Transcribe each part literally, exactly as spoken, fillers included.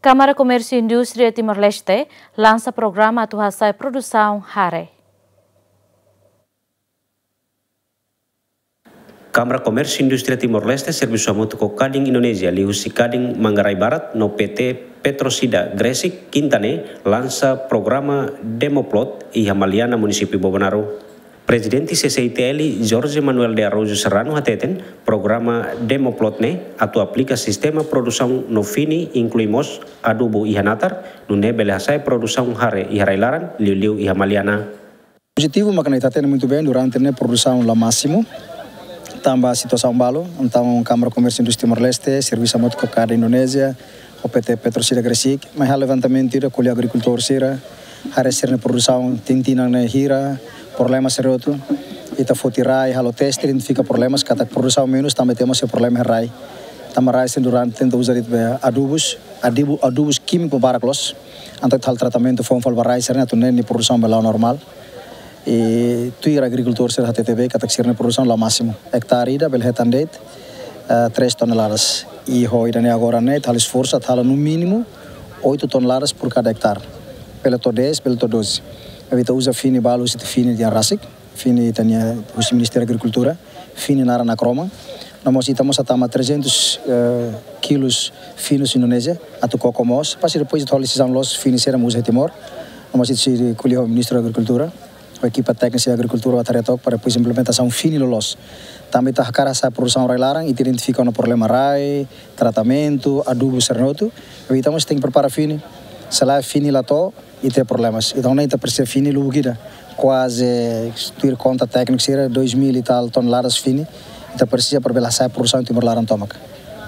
Kámara Komérsiu Indústria Timor-Leste lansa programa atu hasa'e produsaun hare. Kámara Komérsiu Indústria Timor-Leste servisu hamutuk ho Kadin Indonézia, liuhusi Kadin Manggarai Barat no P T Petrosida Gresik, Kinta ne'e lansa programa Demoplot iha Maliana, munisípiu Bobonaro. Prezidente C C I T L, Jorge Manuel de Araújo Serrano hateten, programa Demoplot ne'e atu aplika sistema produsaun no fini, inklui mós adubu iha natar, nune'e bele hasa'e produsaun hare iha rai-laran, liuliu iha Maliana. Pozitivu, mak ne'e ita hatene muitu bem, durante ne'e produsaun la másimu, tanba situasaun balu. Entaun Kámara Komérsiu Indústria Timor-Leste servisu hamutuk ho Kadin Indonézia, ho P T Petrosida Gresik, mai halo levantamentu ida, ko'alia ho agrikultór sira, haree sira-nia produsaun tinan-tinan ne'e hira, problema sira hotu. Ita foti rai, halo teste, identifika problemas, katak produsaun menus, tanba temos problema rai. Tanba rai sira durante tenta uza de'it be adubus, adubu, adubus kímiku barak loos. Entaun ita halo tratamentu foun fali ba rai sira-ne'e atu nune'e nia produsaun bele la'o normál. I tuir agrikultór sira hatete be katak sira-nia produsaun la másimu. Ektare ida bele hetan de'it, eh, três toneladas. I ho ida-ne'e agora ne'e ita halo esforsu atu halo no mínimu oito toneladas por cada hectare. Bele to'o dez, bele to'o doze. Maibé ita uza fini balu, husi ita fini tiha rasik, fini ita-nia husi Ministériu Agrikultura, fini naran Acroma. No mós ita mós hatama trezentos, eh, kilos fini husi Indonézia, atu koko mós, para depois ita halo desizaun loos fini saida mak uza iha Timor. No mós ita sei ko'alia ho Ministru Agrikultura, ho ekipa téknika Agrikultura, atu haree took para depois implementasaun fini loloos. Tanba ita hakarak hasa'e produsaun rai-laran, ita identifika ona problema rai, tratamentu, adubu sira-ne'e hotu. Maibé ita mós tenke prepara fini. Se lae fini la to'o, ita iha problemas. Entaun ne'e ita presiza fini lubuk ida. Kuaze, tuir konta tékniku sira, dois mil e tal toneladas fini ita presiza para bele hasa'e produsaun Timor laran tomak.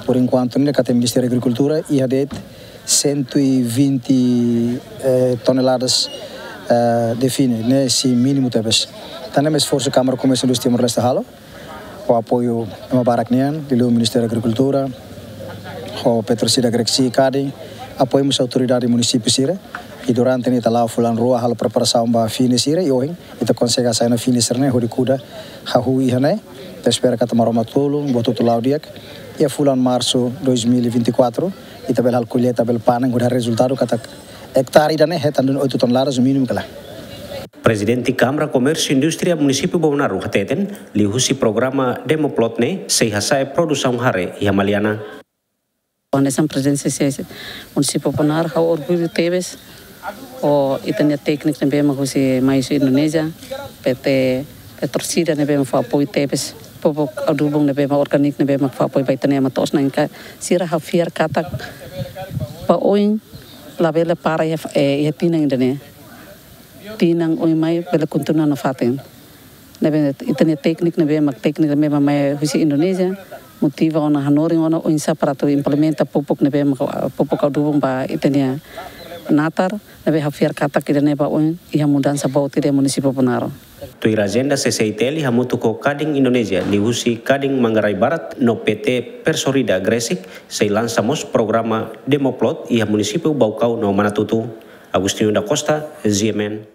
Por enkuantu ne'e katak Ministériu Agrikultura iha de'it cento e vinte, eh, toneladas, eh, de fini, ne'e sei mínimu tebes. Entaun ne'e mak esforsu Kámara Komérsiu Indústria Timor-Leste halo, ho apoiu ema barak nian, liuliu Ministériu Agrikultura, ho Petrosida Gresik, Kadin, apoiu mós autoridade munisípiu sira. I durante ne'e ita la'o fulan rua halo preparasaun ba fini sira, i ohin ita konsege hasa'e ona fini sira-ne'e hodi kuda, hahú iha ne'e. Ita espera katak Maromak tulun, buat hotu la'o di'ak. Iha fulan Marsu dois mil e vinte e quatro, ita bele halo kolleita, bele panen, hodi haree rezultadu katak ektare ida-ne'e hetan duni oito toneladas mínimu ka lae. Prezidente Kámara Komérsiu Indústria Munisípiu Bobonaro hateten, liuhusi programa Demoplot ne'e sei hasa'e produsaun hare iha Maliana. Hanesan Prezidente C C I Munisípiu Bobonaro, ha'u orgullu tebes ho ita-nia tékniku ne'ebé mak husi, mai husi Indonézia, P T Petrosida ne'ebé mak fó apoiu tebes, pupuk adubu ne'ebé mak orgániku ne'ebé mak fó apoiu ba ita-nia ema to'os na'in-ka, sira halo fiar katak ba oin labele para iha, eh, iha tinan ida-ne'e. Tinan oin mai bele kontinua nafatin. Ne'ebé ita-nia tékniku ne'ebé mak tékniku ne'ebé mak mai husi Indonézia, motiva ona, hanorin ona oinsá para atu implementa pupuk ne'ebé mak, pupuk adubu ba ita-nia natar, ne'ebé ha'u fiar katak ida-ne'e ba oin iha mudansa boot iha Munisípiu Bobonaro. Tuir ajenda, C C I T L hamutuk ho Kadin Indonézia, liuhusi Kadin Manggarai Barat no P T Petrosida Gresik, sei lansa mós programa Demoplot iha Munisípiu Baucau no Manatuto. Agostinho da Costa, G M N.